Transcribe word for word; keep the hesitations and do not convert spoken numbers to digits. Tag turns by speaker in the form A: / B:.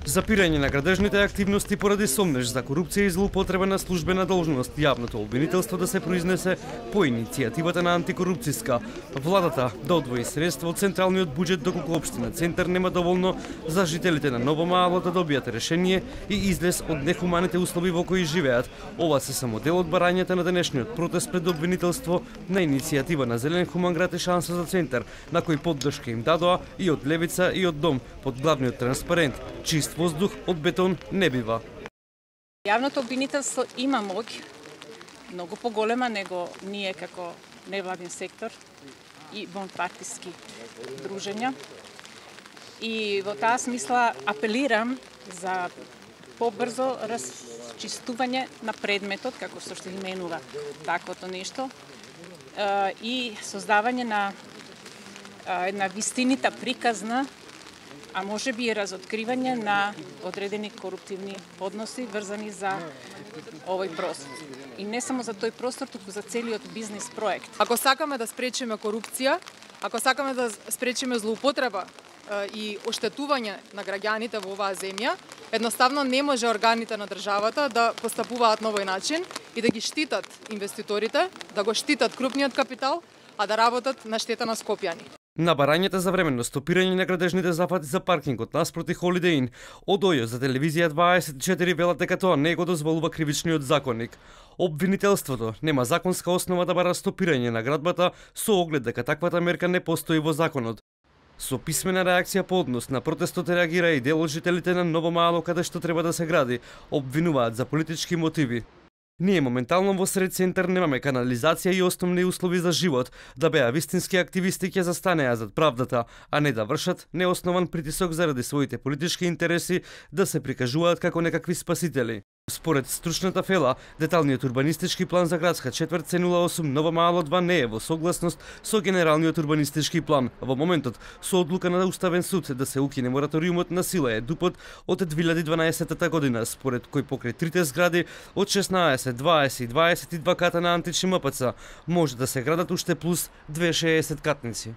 A: Запирање на градежните активности поради сомнеж за корупција и злоупотреба на службена должност, јавното обвинителство да се произнесе по иницијативата на антикорупцијска. Владата да одвои средства од централниот буџет доколку општина Центар нема доволно за жителите на Ново Мало да добијат решение и излез од нехуманите услови во кои живеат. Ова се само дел од барањата на денешниот протест пред обвинителство на иницијатива на Зелен хуман град и шанса за Центар, на кој поддршка им дадоа и од Левица и од Дом под главниот транспарент: чист воздух од бетон не бива.
B: Јавното обвинителство има моќ, многу поголема него ние како невладин сектор и вонпартиски дружења. И во таа смисла апелирам за побрзо расчистување на предметот, како што што именува таквото нешто, и создавање на една вистинита приказна, а може би и разоткривање на одредени коруптивни односи врзани за овој простор. И не само за тој простор, туку за целиот бизнис проект.
C: Ако сакаме да спречиме корупција, ако сакаме да спречиме злоупотреба и оштетување на граѓаните во оваа земја, едноставно не може органите на државата да постапуваат на овој начин и да ги штитат инвеститорите, да го штитат крупниот капитал, а да работат на штета на скопјани.
A: На барањата за временно стопирање на градежните зафати за паркингот наспроти Holiday Inn, од ОЈО за телевизија дваесет и четири велат дека тоа не го дозволува кривичниот законник. Обвинителството нема законска основа да бара стопирање на градбата со оглед дека таквата мерка не постои во законот. Со писмена реакција по однос на протестот реагира и дел од жителите на Ново Мало каде што треба да се гради, обвинуваат за политички мотиви. Ние моментално во сред Центар немаме канализација и основни услови за живот, да беа вистински активисти ќе застанеа зад правдата, а не да вршат неоснован притисок заради своите политички интереси да се прикажуваат како некакви спасители. Според стручната фела, деталниот урбанистички план за градска четврт С нула осум Ново Мало два не е во согласност со генералниот урбанистички план. Во моментот, со одлука на Уставен суд да се укине мораториумот на сила е дупот од две илјади и дванаесетта година, според кој покрај трите згради од шеснаесет, дваесет и дваесет и два ката на антични МПЦ може да се градат уште плюс две шеесет катници.